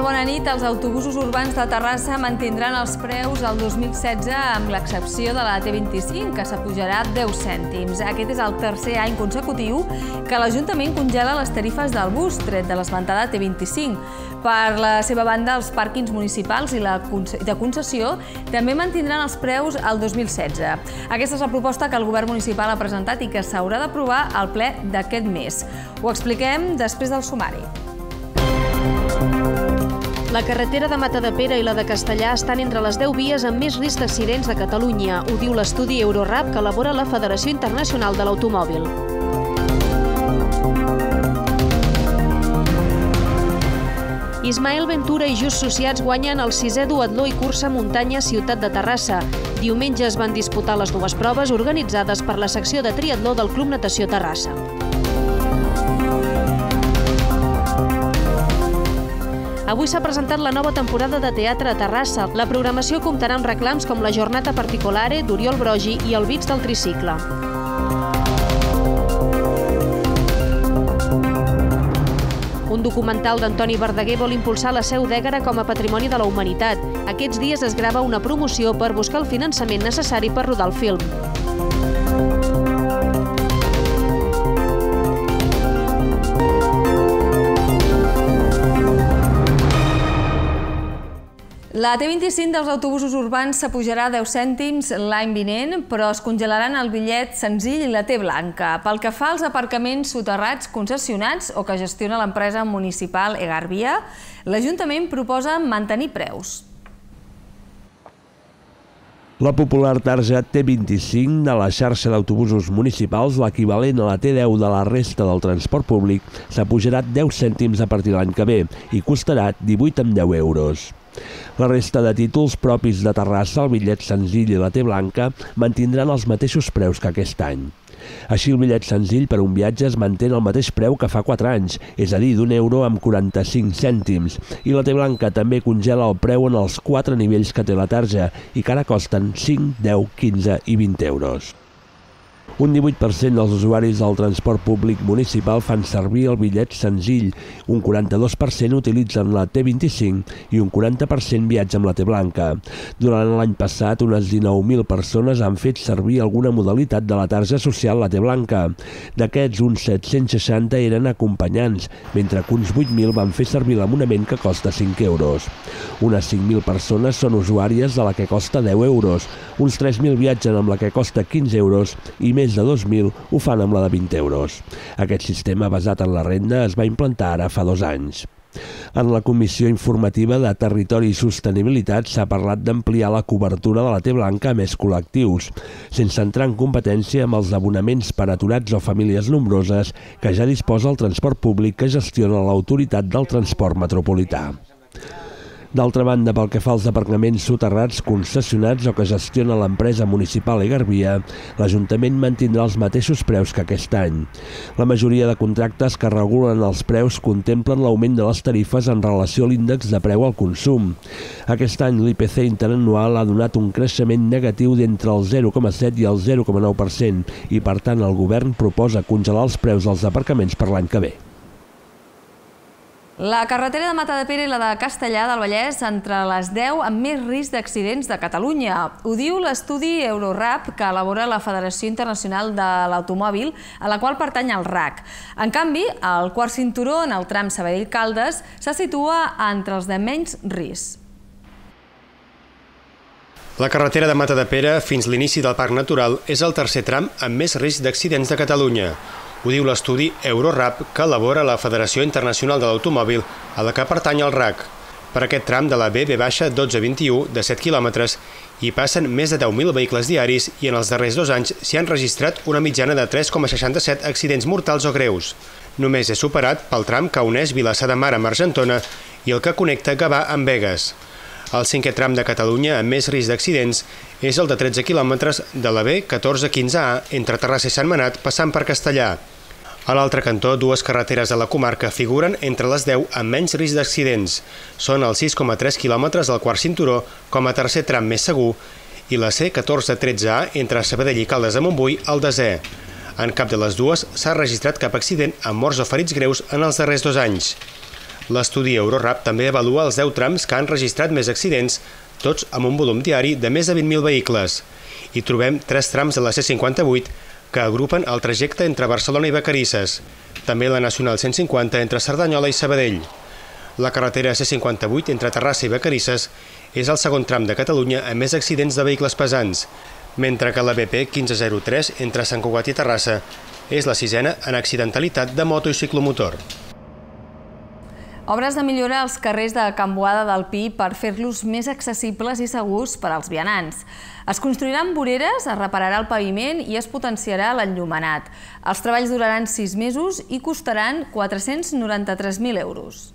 tal? Bona nit. Els autobusos urbans de Terrassa mantindran els preus el 2016 amb l'excepció de la T25, que s'apujarà 10 cèntims. Aquest és el tercer any consecutiu que l'Ajuntament congela les tarifes del bus, tret de l'esmentada T25. Per la seva banda, els pàrquings municipals i de concessió també mantindran els preus el 2016. Aquesta és la proposta que el Govern municipal ha presentat i que s'haurà d'aprovar al ple d'aquest mes. Ho expliquem després del sumari. La carretera de Matadepera i la de Castellar estan entre les 10 vies amb més risc d'accidents de Catalunya. Ho diu l'estudi Eurorap que elabora la Federació Internacional de l'Automòbil. Ismael Ventura i Just Sociats guanyen el 6è duatló i cursa muntanya Ciutat de Terrassa. Diumenge es van disputar les dues proves organitzades per la secció de triatló del Club Natació Terrassa. Avui s'ha presentat la nova temporada de teatre a Terrassa. La programació comptarà amb reclams com la Jornada Particolare d'Oriol Brogi i el Bits del Tricicle. Un documental d'Antoni Verdaguer vol impulsar la Seu d'Ègara com a Patrimoni de la Humanitat. Aquests dies es grava una promoció per buscar el finançament necessari per rodar el film. La T25 dels autobusos urbans s'apujarà 10 cèntims l'any vinent, però es congelaran el bitllet senzill i la T blanca. Pel que fa als aparcaments soterrats concessionats o que gestiona l'empresa municipal Egarvia, l'Ajuntament proposa mantenir preus. La popular tarja T25 de la xarxa d'autobusos municipals, l'equivalent a la T10 de la resta del transport públic, s'apujarà 10 cèntims a partir de l'any que ve i costarà 18,10 euros. La resta de títols propis de Terrassa, el bitllet senzill i la T blanca, mantindran els mateixos preus que aquest any. Així, el bitllet senzill per un viatge es manté el mateix preu que fa 4 anys, és a dir, d'1 amb 45 cèntims, i la T blanca també congela el preu en els 4 nivells que té la tarja i que ara costen 5, 10, 15 i 20 euros. Un 18% dels usuaris del transport públic municipal fan servir el bitllet senzill, un 42% utilitzen la T25 i un 40% viatja amb la T blanca. Durant l'any passat, unes 19.000 persones han fet servir alguna modalitat de la tarja social la T blanca. D'aquests, uns 760 eren acompanyants, mentre que uns 8.000 van fer servir l'abonament que costa 5 euros. Unes 5.000 persones són usuàries de la que costa 10 euros, uns 3.000 viatgen amb la que costa 15 euros i més de 2.000 ho fan amb la de 20 euros. Aquest sistema basat en la renda es va implantar ara fa 2 anys. En la Comissió Informativa de Territori i Sostenibilitat s'ha parlat d'ampliar la cobertura de la T blanca a més col·lectius, sense entrar en competència amb els abonaments per aturats o famílies nombroses que ja disposa el transport públic que gestiona l'Autoritat del Transport Metropolità. D'altra banda, pel que fa als aparcaments soterrats concessionats o que gestiona l'empresa municipal Egarvia, l'Ajuntament mantindrà els mateixos preus que aquest any. La majoria de contractes que regulen els preus contemplen l'augment de les tarifes en relació a l'índex de preu al consum. Aquest any l'IPC interanual ha donat un creixement negatiu d'entre el 0,7 i el 0,9% i, per tant, el Govern proposa congelar els preus dels aparcaments per l'any que ve. La carretera de Matadepera i la de Castellar del Vallès entre les 10 amb més risc d'accidents de Catalunya. Ho diu l'estudi Eurorap que elabora la Federació Internacional de l'Automòbil, a la qual pertany el RAC. En canvi, el quart cinturó en el tram Sabadell-Caldes se situa entre els de menys risc. La carretera de Matadepera fins l'inici del Parc Natural és el tercer tram amb més risc d'accidents de Catalunya. Ho diu l'estudi Eurorap que elabora la Federació Internacional de l'Automòbil, a la que pertany el RAC. Per aquest tram de la B-1221 de 7 quilòmetres hi passen més de 10.000 vehicles diaris i en els darrers 2 anys s'hi han registrat una mitjana de 3,67 accidents mortals o greus. Només és superat pel tram que uneix Vilassar de Mar amb Argentona i el que connecta Gavà amb Begues. El cinquè tram de Catalunya amb més risc d'accidents és el de 13 quilòmetres de la B1415A entre Terrassa i Sentmenat passant per Castellar. A l'altre cantó, dues carreteres de la comarca figuren entre les 10 amb menys risc d'accidents. Són els 6,3 quilòmetres del quart cinturó com a tercer tram més segur i la C1413A entre Sabadell i Caldes de Montbui al desè. En cap de les dues s'ha registrat cap accident amb morts o ferits greus en els darrers 2 anys. L'estudi Eurorap també avalua els 10 trams que han registrat més accidents, tots amb un volum diari de més de 20.000 vehicles. Hi trobem 3 trams de la C58 que agrupen el trajecte entre Barcelona i Vacarisses, també la Nacional 150 entre Cerdanyola i Sabadell. La carretera C58 entre Terrassa i Vacarisses és el segon tram de Catalunya amb més accidents de vehicles pesants, mentre que la BP 1503 entre Sant Cugat i Terrassa és la 6ena en accidentalitat de moto i ciclomotor. Obres de millora als carrers de Can Boada del Pi per fer-los més accessibles i segurs per als vianants. Es construiran voreres, es repararà el paviment i es potenciarà l'enllumenat. Els treballs duraran 6 mesos i costaran 493.000 euros.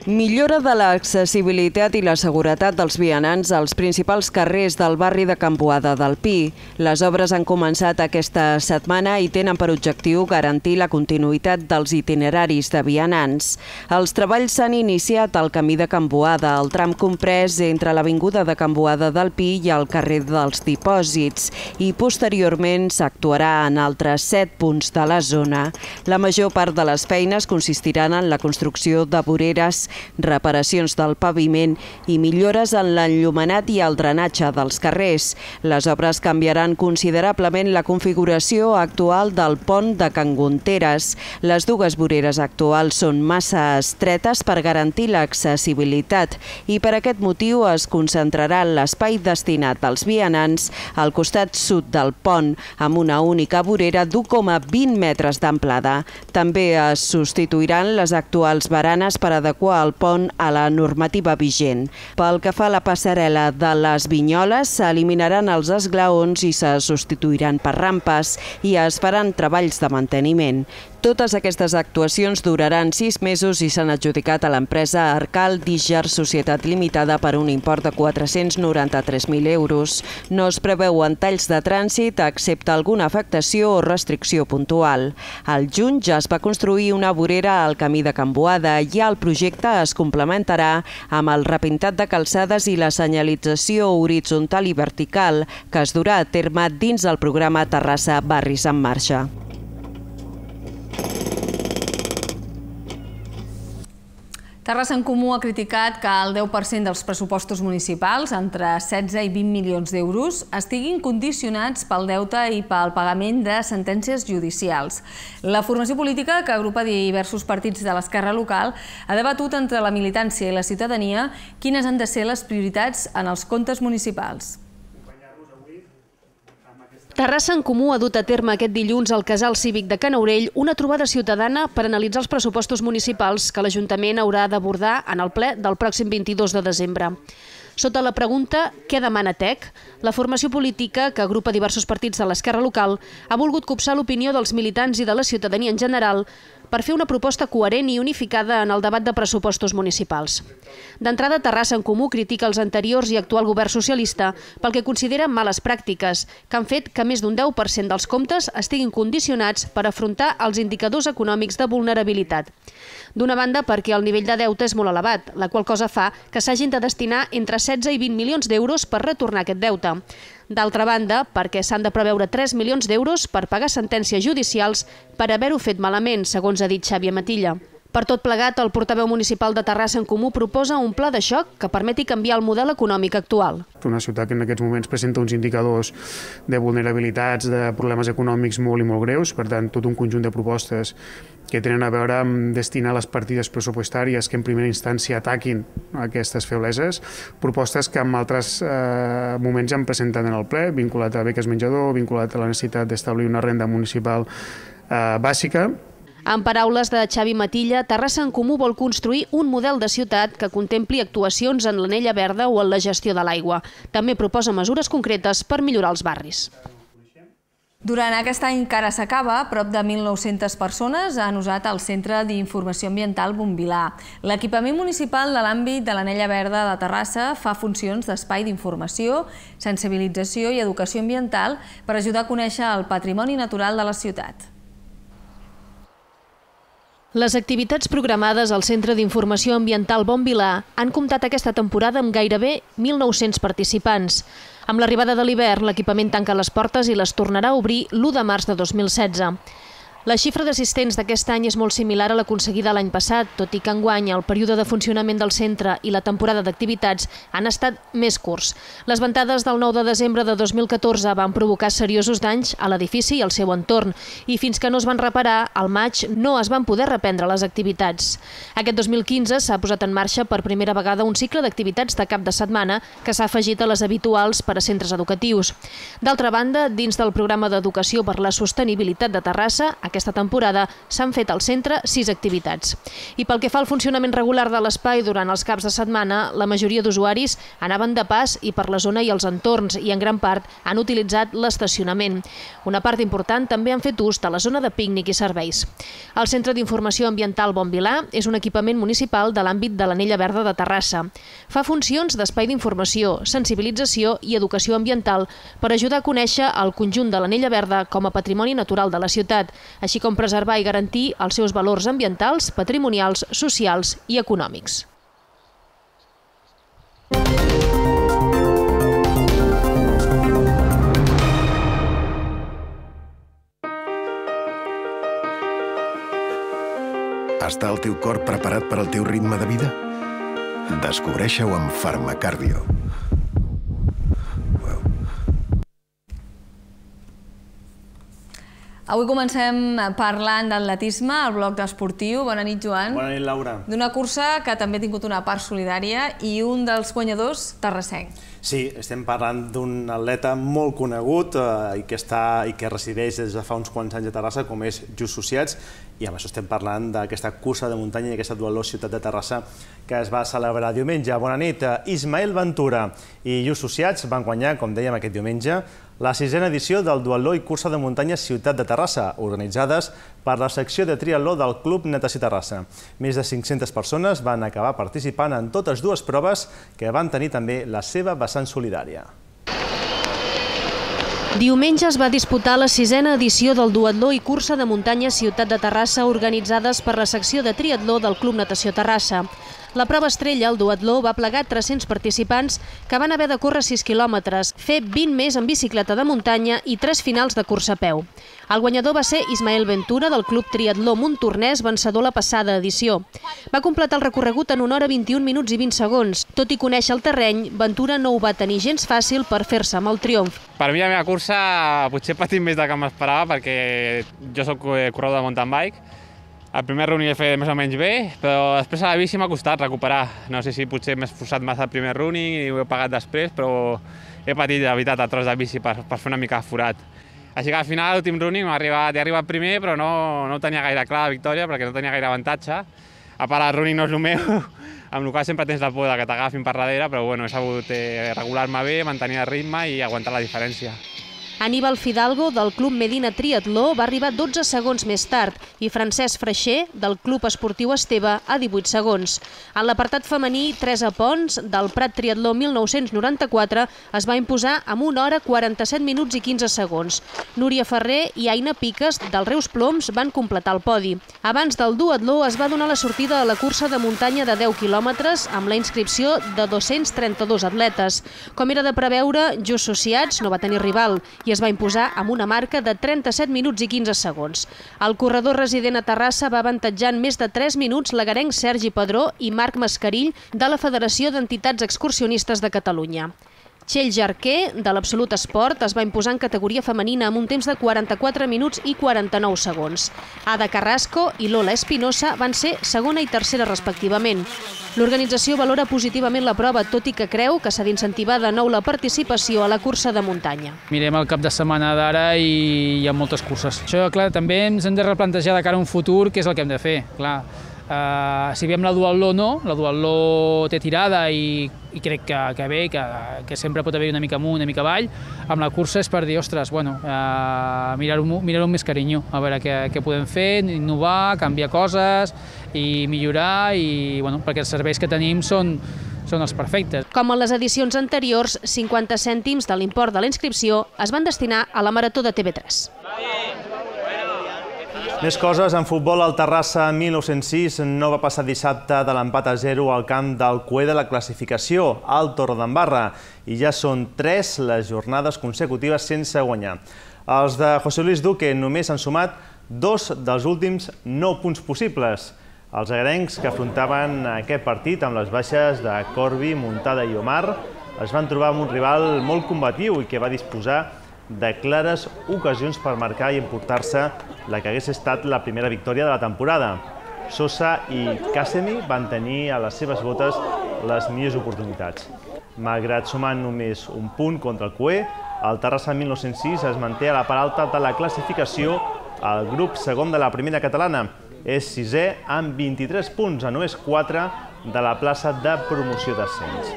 Millora de l'accessibilitat i la seguretat dels vianants als principals carrers del barri de Can Boada del Pi. Les obres han començat aquesta setmana i tenen per objectiu garantir la continuïtat dels itineraris de vianants. Els treballs s'han iniciat al camí de Can Boada, el tram comprès entre l'avinguda de Can Boada del Pi i el carrer dels Dipòsits, i posteriorment s'actuarà en altres 7 punts de la zona. La major part de les feines consistiran en la construcció de voreres, reparacions del paviment i millores en l'enllumenat i el drenatge dels carrers. Les obres canviaran considerablement la configuració actual del pont de Can Gonteres. Les dues voreres actuals són massa estretes per garantir l'accessibilitat i per aquest motiu es concentrarà l'espai destinat als vianants al costat sud del pont, amb una única vorera d'1,20 metres d'amplada. També es substituiran les actuals baranes per adequar el pont a la normativa vigent. Pel que fa a la passarel·la de les Vinyoles, s'eliminaran els esglaons i se substituiran per rampes i es faran treballs de manteniment. Totes aquestes actuacions duraran 6 mesos i s'han adjudicat a l'empresa Arcal Díger Societat Limitada per un import de 493.000 euros. No es preveuen talls de trànsit excepte alguna afectació o restricció puntual. Al juny ja es va construir una vorera al camí de Can Boada i el projecte es complementarà amb el repintat de calçades i la senyalització horitzontal i vertical que es durà a terme dins el programa Terrassa Barris en Marxa. Terrassa en Comú ha criticat que el 10% dels pressupostos municipals, entre 16 i 20 milions d'euros, estiguin condicionats pel deute i pel pagament de sentències judicials. La formació política, que agrupa diversos partits de l'esquerra local, ha debatut entre la militància i la ciutadania quines han de ser les prioritats en els comptes municipals. Terrassa en Comú ha dut a terme aquest dilluns al Casal Cívic de Can Aurell una trobada ciutadana per analitzar els pressupostos municipals que l'Ajuntament haurà d'abordar en el ple del pròxim 22 de desembre. Sota la pregunta «Què demana TEC?», la formació política, que agrupa diversos partits de l'esquerra local, ha volgut copsar l'opinió dels militants i de la ciutadania en general per fer una proposta coherent i unificada en el debat de pressupostos municipals. D'entrada, Terrassa en Comú critica els anteriors i actual govern socialista pel que considera males pràctiques, que han fet que més d'un 10% dels comptes estiguin condicionats per afrontar els indicadors econòmics de vulnerabilitat. D'una banda, perquè el nivell de deute és molt elevat, la qual cosa fa que s'hagin de destinar entre 16 i 20 milions d'euros per retornar aquest deute. D'altra banda, perquè s'han de preveure 3 milions d'euros per pagar sentències judicials per haver-ho fet malament, segons ha dit Xavi Amatilla. Per tot plegat, el portaveu municipal de Terrassa en Comú proposa un pla de xoc que permeti canviar el model econòmic actual. Una ciutat que en aquests moments presenta uns indicadors de vulnerabilitats, de problemes econòmics molt i molt greus, per tant, tot un conjunt de propostes que tenen a veure amb destinar les partides pressupostàries que en primera instància ataquin aquestes febleses, propostes que en altres moments han presentat en el ple, vinculat a beques menjador, vinculat a la necessitat d'establir una renda municipal bàsica. En paraules de Xavi Matilla, Terrassa en Comú vol construir un model de ciutat que contempli actuacions en l'anella verda o en la gestió de l'aigua. També proposa mesures concretes per millorar els barris. Durant aquest any que ara s'acaba, prop de 1.900 persones han usat el Centre d'Informació Ambiental Bonvilà. L'equipament municipal de l'àmbit de l'Anella Verda de Terrassa fa funcions d'espai d'informació, sensibilització i educació ambiental per ajudar a conèixer el patrimoni natural de la ciutat. Les activitats programades al Centre d'Informació Ambiental Bonvilà han comptat aquesta temporada amb gairebé 1.900 participants. Amb l'arribada de l'hivern, l'equipament tanca les portes i les tornarà a obrir l'1 de març de 2016. La xifra d'assistents d'aquest any és molt similar a l'aconseguida l'any passat, tot i que enguany el període de funcionament del centre i la temporada d'activitats han estat més curts. Les ventades del 9 de desembre de 2014 van provocar seriosos danys a l'edifici i al seu entorn, i fins que no es van reparar, al maig no es van poder reprendre les activitats. Aquest 2015 s'ha posat en marxa per primera vegada un cicle d'activitats de cap de setmana que s'ha afegit a les habituals per a centres educatius. D'altra banda, dins del programa d'educació per la sostenibilitat de Terrassa, aquesta temporada s'han fet al centre 6 activitats. I pel que fa al funcionament regular de l'espai durant els caps de setmana, la majoria d'usuaris anaven de pas i per la zona i els entorns i en gran part han utilitzat l'estacionament. Una part important també han fet ús de la zona de pícnic i serveis. El Centre d'Informació Ambiental Bon Vilà és un equipament municipal de l'àmbit de l'Anella Verda de Terrassa. Fa funcions d'espai d'informació, sensibilització i educació ambiental per ajudar a conèixer el conjunt de l'Anella Verda com a patrimoni natural de la ciutat, així com preservar i garantir els seus valors ambientals, patrimonials, socials i econòmics. Està el teu cor preparat per al teu ritme de vida? Descobreixi-ho amb Farmacardio. Avui comencem parlant d'atletisme, al bloc d'esportiu. Bona nit, Joan. Bona nit, Laura. D'una cursa que també ha tingut una part solidària i un dels guanyadors, terrassenc. Sí, estem parlant d'un atleta molt conegut i que resideix des de fa uns quants anys a Terrassa, com és Just Sociats, i amb això estem parlant d'aquesta cursa de muntanya i aquesta duatló Ciutat de Terrassa que es va celebrar diumenge. Bona nit. Ismael Ventura i Just Sociats van guanyar, com dèiem, aquest diumenge, la 6a edició del duatló i cursa de muntanya Ciutat de Terrassa, organitzades per la secció de triatló del Club Natació Terrassa. Més de 500 persones van acabar participant en totes dues proves que van tenir també la seva vessant solidària. Diumenge es va disputar la 6a edició del duatló i cursa de muntanya Ciutat de Terrassa organitzades per la secció de triatló del Club Natació Terrassa. La prova estrella, el duatló, va plegar 300 participants que van haver de córrer 6 quilòmetres, fer 20 més en bicicleta de muntanya i 3 finals de cursa a peu. El guanyador va ser Ismael Ventura, del Club Triatló Montornès, vencedor la passada edició. Va completar el recorregut en 1 hora 21 minuts i 20 segons. Tot i conèixer el terreny, Ventura no ho va tenir gens fàcil per fer-se amb el triomf. Per mi la meva cursa potser he patit més del que m'esperava perquè jo soc corredor de mountain bike. El primer running l'he fet més o menys bé, però després a la bici m'ha costat recuperar. No sé si potser m'he esforçat massa el primer running i ho he pagat després, però he patit, de veritat, el tros de bici per fer una mica forat. Així que al final l'últim running he arribat primer, però no ho tenia gaire clar la victòria perquè no tenia gaire avantatge. A part, el running no és el meu, amb el qual sempre tens la por que t'agafin per darrere, però bueno, he sabut regular-me bé, mantenir el ritme i aguantar la diferència. Aníbal Fidalgo, del Club Medina Triatló, va arribar 12 segons més tard i Francesc Freixer, del Club Esportiu Esteve, a 18 segons. En l'apartat femení, Teresa Pons, del Prat Triatló 1994, es va imposar amb 1 hora 47 minuts i 15 segons. Núria Ferrer i Aina Piques, del Reus Ploms, van completar el podi. Abans del duatló es va donar la sortida a la cursa de muntanya de 10 quilòmetres amb la inscripció de 232 atletes. Com era de preveure, Just Sociats no va tenir rival i es va imposar amb una marca de 37 minuts i 15 segons. El corredor resident a Terrassa va avantatjar en més de 3 minuts l'agarenc Sergi Padró i Marc Mascarill de la Federació d'Entitats Excursionistes de Catalunya. Txell Jarquer, de l'Absolut Esport, es va imposar en categoria femenina amb un temps de 44 minuts i 49 segons. Ada Carrasco i Lola Espinosa van ser segona i tercera respectivament. L'organització valora positivament la prova, tot i que creu que s'ha d'incentivar de nou la participació a la cursa de muntanya. Mirem el cap de setmana d'ara i hi ha moltes curses. Això, clar, també ens hem de replantejar de cara a un futur què és el que hem de fer. Clar, si veiem la duatló no, la duatló té tirada i crec que bé, que sempre pot haver una mica amunt, una mica avall. Amb la cursa és per dir, ostres, bueno, mirar-ho amb més carinyo, a veure què podem fer, innovar, canviar coses i millorar, i bueno, perquè els serveis que tenim són els perfectes. Com en les edicions anteriors, 50 cèntims de l'import de la inscripció es van destinar a la Marató de TV3. Més coses, en futbol, el Terrassa 1906 no va passar dissabte de l'empat a 0 al camp del cué de la classificació, al Torredembarra, i ja són 3 les jornades consecutives sense guanyar. Els de José Luis Duque només han sumat 2 dels últims 9 punts possibles. Els agrencs que afrontaven aquest partit amb les baixes de Corbi, Muntada i Omar es van trobar amb un rival molt combatiu i que va disposar de clares ocasions per marcar i emportar-se la que hagués estat la primera victòria de la temporada. Sosa i Kasemi van tenir a les seves botes les millors oportunitats. Malgrat sumar només un punt contra el Cué, el Terrassa 1906 es manté a la part alta de la classificació al grup segon de la primera catalana. És sisè amb 23 punts, a només 4 de la plaça de promoció d'ascens.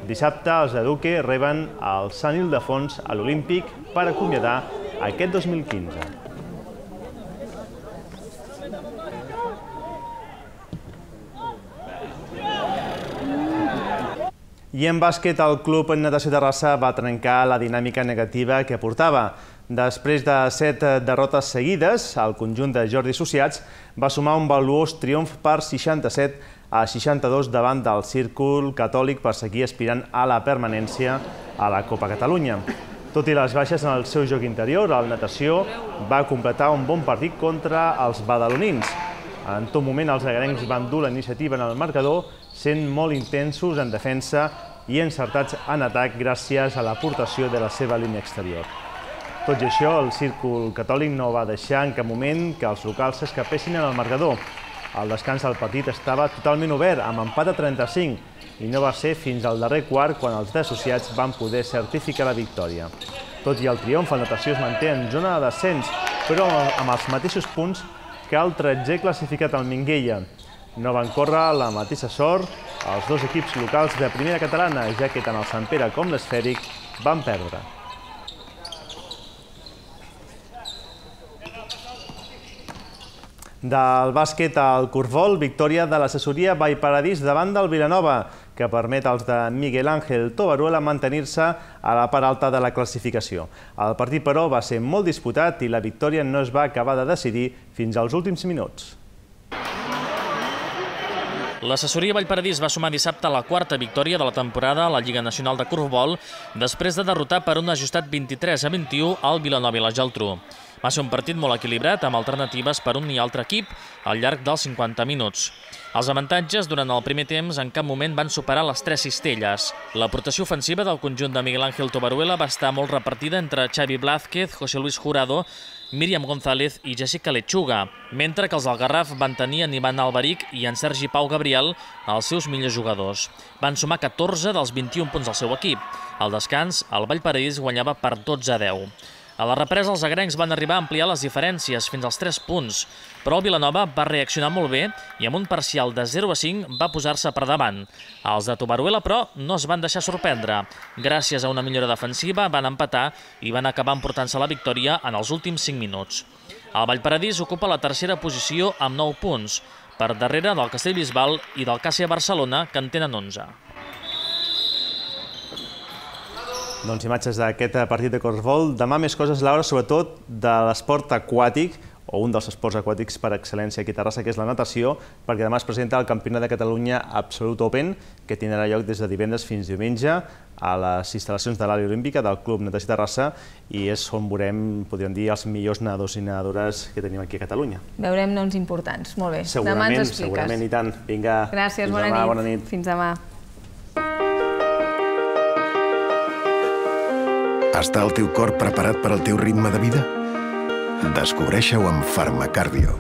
Dissabte els de Duque reben el Sant Ildefons a l'Olímpic per acomiadar aquest 2015. I en bàsquet, el Club Natació Terrassa va trencar la dinàmica negativa que portava. Després de 7 derrotes seguides, el conjunt de Jordi Associats va sumar un valuós triomf per 67-62 davant del Círcul Catòlic per seguir aspirant a la permanència a la Copa Catalunya. Tot i les baixes en el seu joc interior, el Natació va completar un bon partit contra els badalonins. En tot moment, els agrencs van dur la iniciativa en el marcador, sent molt intensos en defensa i encertats en atac gràcies a l'aportació de la seva línia exterior. Tot i això, el Círcul Catòlic no va deixar en cap moment que els locals s'escapessin en el marcador. Al descans del partit estava totalment obert, amb empat a 35, i no va ser fins al darrer quart quan els d'associats van poder certificar la victòria. Tot i el triomf, el Natació es manté en zona de descens, però amb els mateixos punts que el 13è classificat al Minguella. No van córrer la mateixa sort els dos equips locals de primera catalana, ja que tant el Sant Pere com l'Esfèric van perdre. Del bàsquet al Corfbol, victòria de l'assessoria Vallparadís davant del Vilanova, que permet als de Miguel Ángel Tobaruela mantenir-se a la part alta de la classificació. El partit, però, va ser molt disputat i la victòria no es va acabar de decidir fins als últims minuts. L'assessoria Vallparadís va sumar dissabte la quarta victòria de la temporada a la Lliga Nacional de Corfbol després de derrotar per un ajustat 23-21 al Vilanova i la Geltrú. Va ser un partit molt equilibrat, amb alternatives per un i altre equip al llarg dels 50 minuts. Els avantatges durant el primer temps en cap moment van superar les 3 cistelles. L'aportació ofensiva del conjunt de Miguel Ángel Tobaruela va estar molt repartida entre Xavi Blázquez, José Luis Jurado, Míriam González i Jessica Lechuga, mentre que els del Garraf van tenir en Ivan Alberic i en Sergi Pau Gabriel els seus millors jugadors. Van sumar 14 dels 21 punts del seu equip. Al descans, el Vallparadís guanyava per 12-10. A la represa, els agrencs van arribar a ampliar les diferències fins als 3 punts, però el Vilanova va reaccionar molt bé i amb un parcial de 0-5 va posar-se per davant. Els de Tobaruela, però, no es van deixar sorprendre. Gràcies a una millora defensiva van empatar i van acabar emportant-se la victòria en els últims 5 minuts. El Vallparadís ocupa la tercera posició amb 9 punts, per darrere del Castellbisbal i del Càssia Barcelona, que en tenen 11. Doncs imatges d'aquest partit de Corfbol. Demà més coses, Laura, sobretot de l'esport aquàtic, o un dels esports aquàtics per excel·lència aquí a Terrassa, que és la natació, perquè demà es presenta el Campionat de Catalunya Absolut Open, que tindrà lloc des de divendres fins diumenge a les instal·lacions de l'àrea olímpica del Club Natació Terrassa, i és on veurem, podríem dir, els millors nedadors i nedadores que tenim aquí a Catalunya. Veurem noms importants, molt bé. Demà ens expliques. Segurament, i tant. Vinga, gràcies, bona nit. Fins demà. Està el teu cor preparat per al teu ritme de vida? Descobreix-ho amb Farmacardio.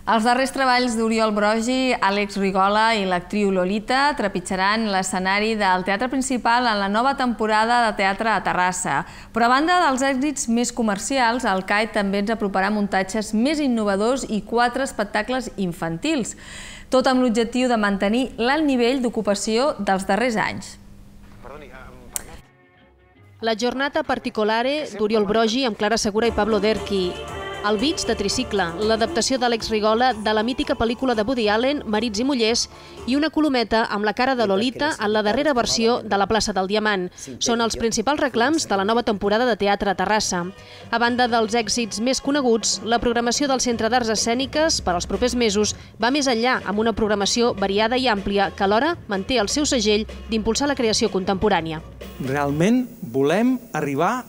Els darrers treballs d'Oriol Brogi, Àlex Rigola i l'actriu Lolita trepitjaran l'escenari del teatre principal en la nova temporada de teatre a Terrassa. Però a banda dels èxits més comercials, el CAI també ens aproparà muntatges més innovadors i 4 espectacles infantils, tot amb l'objectiu de mantenir l'alt nivell d'ocupació dels darrers anys. La Jornada Particolare d'Oriol Brogi amb Clara Segura i Pablo Derqui. El Beach de Tricicle, l'adaptació d'Àlex Rigola de la mítica pel·lícula de Woody Allen, Marits i mullers, i una colometa amb la cara de Lolita en la darrera versió de la plaça del Diamant. Són els principals reclams de la nova temporada de teatre a Terrassa. A banda dels èxits més coneguts, la programació del Centre d'Arts Escèniques per als propers mesos va més enllà, amb una programació variada i àmplia que alhora manté el seu segell d'impulsar la creació contemporània. Realment volem arribar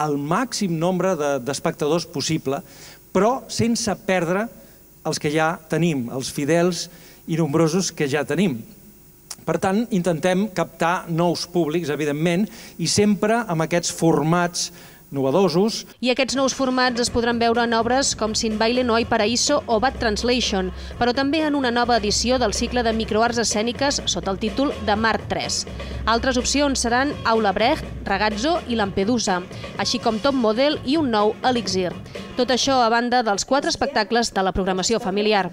al màxim nombre d'espectadors possible, però sense perdre els que ja tenim, els fidels i nombrosos que ja tenim. Per tant, intentem captar nous públics, evidentment, i sempre amb aquests formats novedosos. I aquests nous formats es podran veure en obres com Sin Baile no hay paraíso o Bad Translation, però també en una nova edició del cicle de microarts escèniques sota el títol de Mar 3. Altres opcions seran Aula Brecht, Ragazzo i Lampedusa, així com Top Model i un nou Elixir. Tot això a banda dels 4 espectacles de la programació familiar.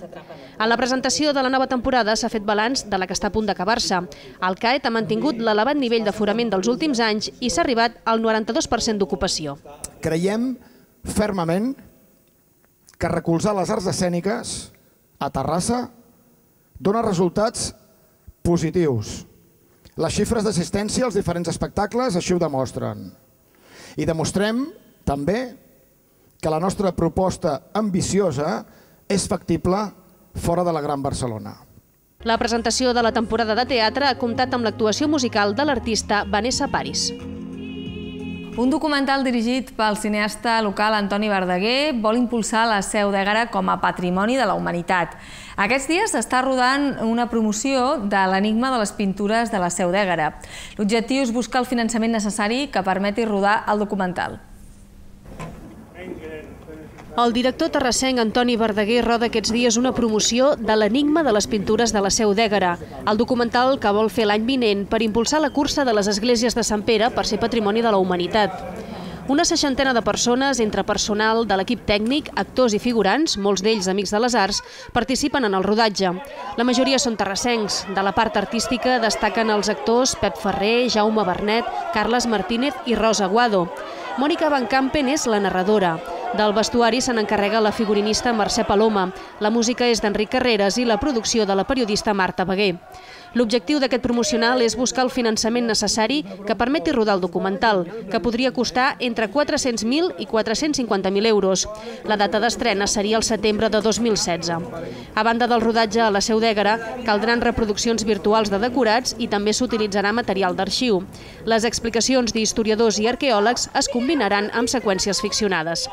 En la presentació de la nova temporada s'ha fet balanç de la que està a punt d'acabar-se. El CAET ha mantingut l'elevat nivell d'aforament dels últims anys i s'ha arribat al 92% d'ocupació. Creiem fermament que recolzar les arts escèniques a Terrassa dona resultats positius. Les xifres d'assistència als diferents espectacles així ho demostren. I demostrem també que la nostra proposta ambiciosa és factible fora de la Gran Barcelona. La presentació de la temporada de teatre ha comptat amb l'actuació musical de l'artista Vanessa Paris. Un documental dirigit pel cineasta local Antoni Verdaguer vol impulsar la Seu d'Ègara com a patrimoni de la humanitat. Aquests dies s'està rodant una promoció de l'enigma de les pintures de la Seu d'Ègara. L'objectiu és buscar el finançament necessari que permeti rodar el documental. El director terrassenc Antoni Verdaguer roda aquests dies una promoció de l'enigma de les pintures de la Seu d'Ègara, el documental que vol fer l'any vinent per impulsar la cursa de les esglésies de Sant Pere per ser patrimoni de la humanitat. Una 60ena de persones, entre personal de l'equip tècnic, actors i figurants, molts d'ells amics de les arts, participen en el rodatge. La majoria són terrassencs. De la part artística destaquen els actors Pep Ferrer, Jaume Bernet, Carles Martínez i Rosa Guado. Mònica Van Campen és la narradora. Del vestuari se n'encarrega la figurinista Mercè Paloma, la música és d'Enric Carreras i la producció de la periodista Marta Beguer. L'objectiu d'aquest promocional és buscar el finançament necessari que permeti rodar el documental, que podria costar entre 400.000 i 450.000 euros. La data d'estrena seria el setembre de 2016. A banda del rodatge a la Seu d'Ègara, caldran reproduccions virtuals de decorats i també s'utilitzarà material d'arxiu. Les explicacions d'historiadors i arqueòlegs es combinaran amb seqüències ficcionades.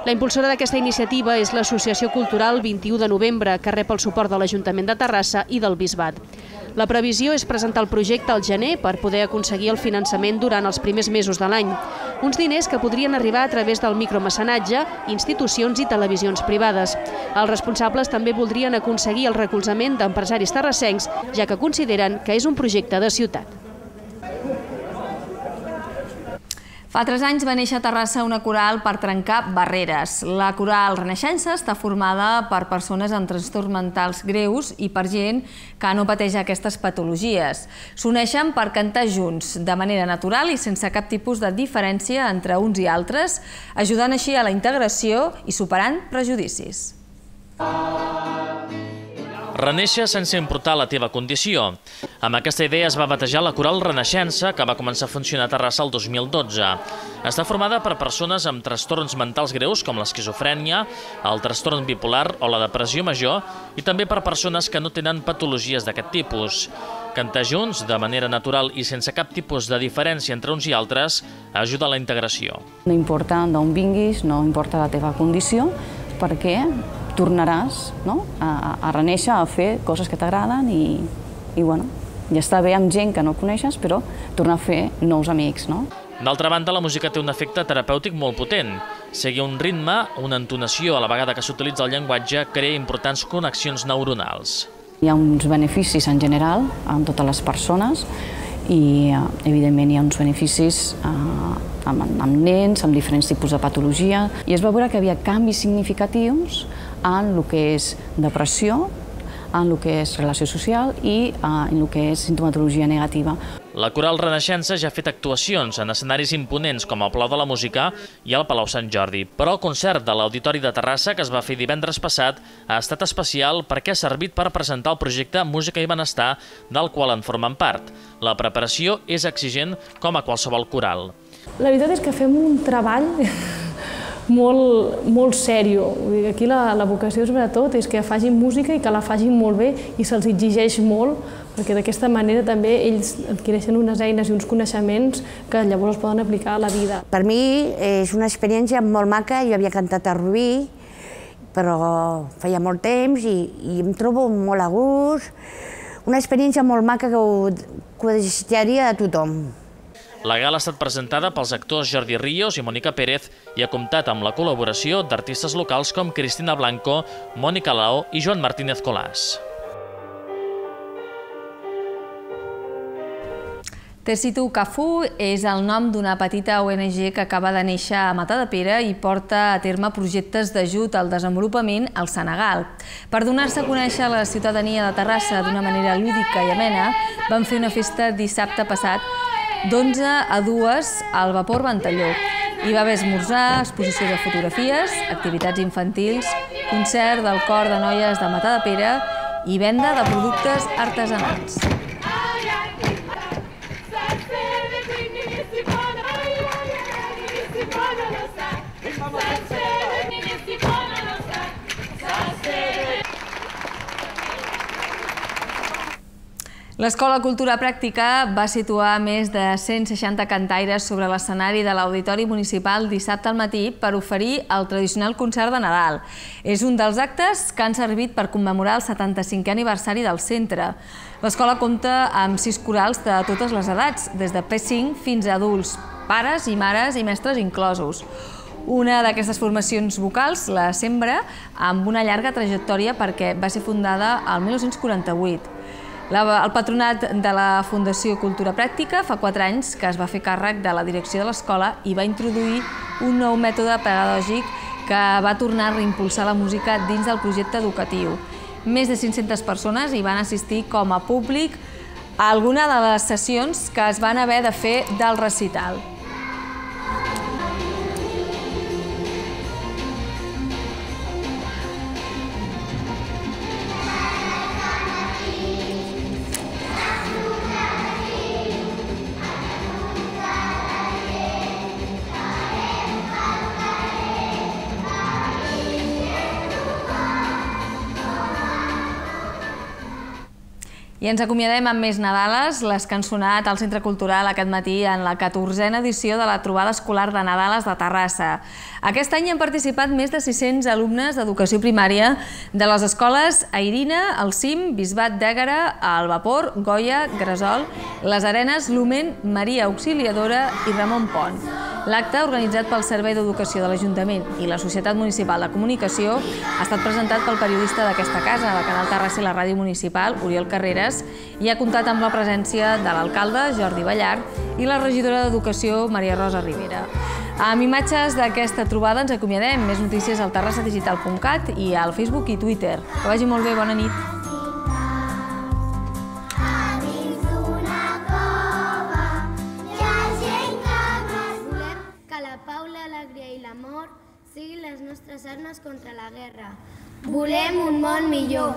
La impulsora d'aquesta iniciativa és l'Associació Cultural 21 de Novembre, que rep el suport de l'Ajuntament de Terrassa i del Bisbat. La previsió és presentar el projecte al gener per poder aconseguir el finançament durant els primers mesos de l'any. Uns diners que podrien arribar a través del micromecenatge, institucions i televisions privades. Els responsables també voldrien aconseguir el recolzament d'empresaris terrassencs, ja que consideren que és un projecte de ciutat. Fa 3 anys va néixer a Terrassa una coral per trencar barreres. La coral Renaixença està formada per persones amb trastorns mentals greus i per gent que no pateix aquestes patologies. S'uneixen per cantar junts, de manera natural i sense cap tipus de diferència entre uns i altres, ajudant així a la integració i superant prejudicis. Renéixer sense importar la teva condició. Amb aquesta idea es va batejar la coral Renaixença, que va començar a funcionar a Terrassa el 2012. Està formada per persones amb trastorns mentals greus com l'esquizofrènia, el trastorn bipolar o la depressió major i també per persones que no tenen patologies d'aquest tipus. Cantar junts, de manera natural i sense cap tipus de diferència entre uns i altres, ajuda a la integració. No importa d'on vinguis, no importa la teva condició, perquè tornaràs a renéixer, a fer coses que t'agraden i ja està bé amb gent que no coneixes, però tornar a fer nous amics. D'altra banda, la música té un efecte terapèutic molt potent. Seguir un ritme, una entonació a la vegada que s'utilitza el llenguatge, crea importants connexions neuronals. Hi ha uns beneficis en general amb totes les persones i, evidentment, hi ha uns beneficis amb nens, amb diferents tipus de patologia. I es va veure que hi havia canvis significatius en el que és depressió, en el que és relació social i en el que és sintomatologia negativa. La Coral Renaixença ja ha fet actuacions en escenaris imponents com el Palau de la Música i el Palau Sant Jordi, però el concert de l'Auditori de Terrassa, que es va fer divendres passat, ha estat especial perquè ha servit per presentar el projecte Música i Benestar, del qual en formen part. La preparació és exigent com a qualsevol coral. La veritat és que fem un treball molt sèrio. Aquí la vocació sobretot és que facin música i que la facin molt bé i se'ls exigeix molt, perquè d'aquesta manera també ells adquireixen unes eines i uns coneixements que llavors es poden aplicar a la vida. Per mi és una experiència molt maca. Jo havia cantat a Rubí, però feia molt temps i em trobo molt a gust. Una experiència molt maca que ho desitjaria a tothom. La gala ha estat presentada pels actors Jordi Ríos i Mònica Pérez i ha comptat amb la col·laboració d'artistes locals com Cristina Blanco, Mònica Lao i Joan Martínez Colàs. Tessitu Cafu és el nom d'una petita ONG que acaba de néixer a Matadepera i porta a terme projectes d'ajut al desenvolupament al Senegal. Per donar-se a conèixer a la ciutadania de Terrassa d'una manera lúdica i amena, van fer una festa dissabte passat d'11 a 2 al Vapor Ventalló. Hi va haver esmorzar, exposició de fotografies, activitats infantils, concert del cor de noies de Matadepera i venda de productes artesanals. L'Escola Cultura Pràctica va situar més de 160 cantaires sobre l'escenari de l'Auditori Municipal dissabte al matí per oferir el tradicional concert de Nadal. És un dels actes que han servit per commemorar el 75è aniversari del centre. L'escola compta amb 6 corals de totes les edats, des de P5 fins a adults, pares i mares i mestres inclosos. Una d'aquestes formacions vocals, la Sembra, amb una llarga trajectòria perquè va ser fundada el 1948. El patronat de la Fundació Cultura Pràctica fa 4 anys que es va fer càrrec de la direcció de l'escola i va introduir un nou mètode pedagògic que va tornar a reimpulsar la música dins del projecte educatiu. Més de 500 persones hi van assistir com a públic a alguna de les sessions que es van haver de fer del recital. I ens acomiadem amb més Nadales, les que han sonat al Centre Cultural aquest matí en la 14a edició de la trobada escolar de Nadales de Terrassa. Aquest any han participat més de 600 alumnes d'educació primària de les escoles Airina, El Cim, Bisbat d'Ègara, El Vapor, Goya, Gresol, Les Arenes, Lumen, Maria Auxiliadora i Ramon Pont. L'acte, organitzat pel Servei d'Educació de l'Ajuntament i la Societat Municipal de Comunicació, ha estat presentat pel periodista d'aquesta casa, de Canal Terrassa i la Ràdio Municipal, Oriol Carreras, i ha comptat amb la presència de l'alcalde, Jordi Ballart, i la regidora d'Educació, Maria Rosa Rivera. Amb imatges d'aquesta trobada ens acomiadem. Més notícies al terrassadigital.cat i al Facebook i Twitter. Que vagi molt bé, bona nit. Que la pau, l'alegria i l'amor siguin les nostres armes contra la guerra. Volem un món millor.